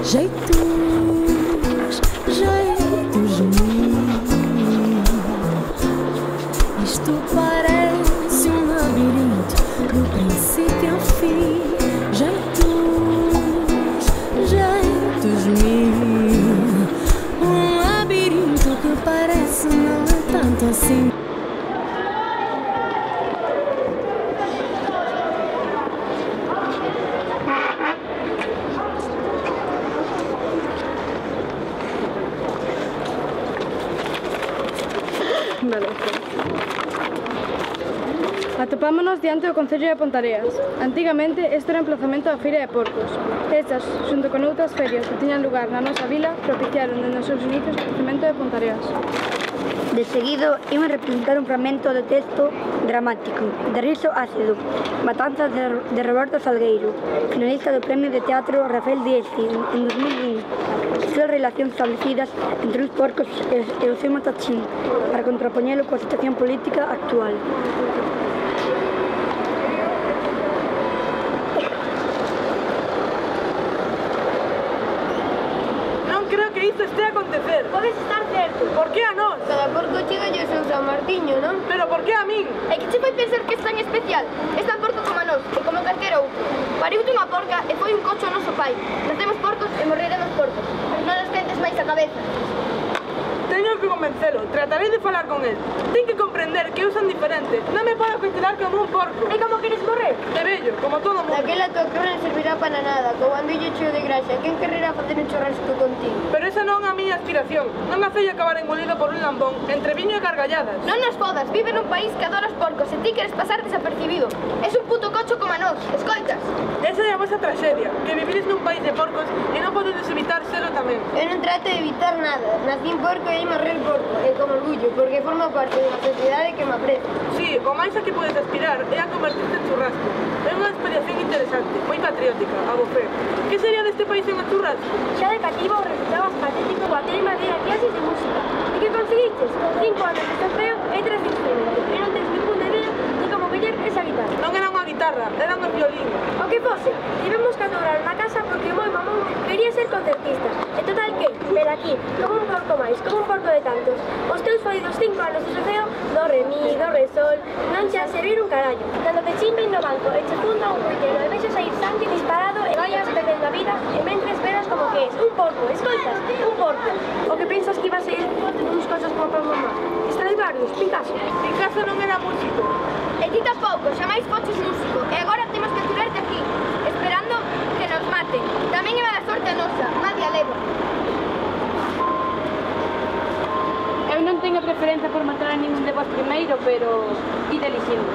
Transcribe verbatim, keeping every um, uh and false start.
Jeitos, jeitos mil. Isto parece um labirinto do princípio ao fim. Jeitos, jeitos mil. Um labirinto que parece não é tanto assim. Vale. Atopámonos diante do Concello de Pontareas. Antigamente, este era o emplazamento da Feira de Porcos. Estas, xunto con outras ferias que tiñan lugar na nosa vila, propiciaron dende os seus inicios o crecemento de Pontareas. De seguido, imos representar un fragmento do texto dramático de Riso Ácido, Matanzas de Roberto Salgueiro, finalista do Premio de Teatro Rafael Diez en dos mil vinte. As relacións establecidas entre os porcos e o seu matachín para contrapoñelo coa situación política actual. Non creo que isto este a acontecer. Podes estar certo. Por que a nós? Cada porco chega e o seu San Martiño, non? Pero por que a min? É que che fai pensar que é tan especial. É tan porco como a nós, e como calquera outro. Pariute unha porca e foi un cocho ao noso pai. Nacemos porcos e morreremos porcos. Non nos quentes máis a cabeza. Teño que convencelo, tratarei de falar con el. Ten que comprender que eu son diferente. Non me podo considerar como un porco. E como queres morrer? De vello, como todo mundo. Daquela tua crona non servirá para nada, co bandillo cheo de graxa. Quen quererá facer un churrasco contigo? Pero esa non é a miña aspiración. Non me fei acabar engolido por un lambón entre viño e gargalladas. Non nos fodas, vive nun país que adora os porcos e ti queres pasar desapercibido. Es un puto cocho como a nós, escoitas? Esa é a vosa traxedia, que vivides nun país de porcos e non podedes evitar selo tamén. Eu non trato de evitar nada. Nací porco e aí morrer porco, e con orgullo, porque formo parte dunha sociedade que me aprecia. Sí, o máis a que podes aspirar é a convertirte en churrasco. É unha experiencia interesante, moi patriótica, a bofé. Que sería deste país en o churrasco? Xa de cativo resultabas patético coa tema de a clases de música. E que conseguiches? Cinco anos de solfeo e tres de instrumento. E non tens ninguna idea de como coller esa guitarra. Non era unha guitarra, era un violín. O que fose, tivemos que adorar na casa porque o meu mamón quería ser concertista. E total que, pero aquí, como un porco máis, como un porco de tantos. Os teus fodidos cinco anos de solfeo, do re mi, do re sol, non xa servir un carallo. Cando te chimben no banco e che funda un ruitero e vexas sair sangue disparado e vayas perdendo a vida e mentres veras como que es un porco, escoitas, un porco. O que pensas que iba a ser uns cosas como para mamá? Stradivarius, Picasso. Picasso non era músico. E ti tampouco, xa máis foches músico. E agora temos que aturarte aquí, esperando que nos maten. Tamén é mala sorte a nosa, nadie a leva. Eu non teño preferencia por matar a ningún de vos primeiro, pero ide elixindo.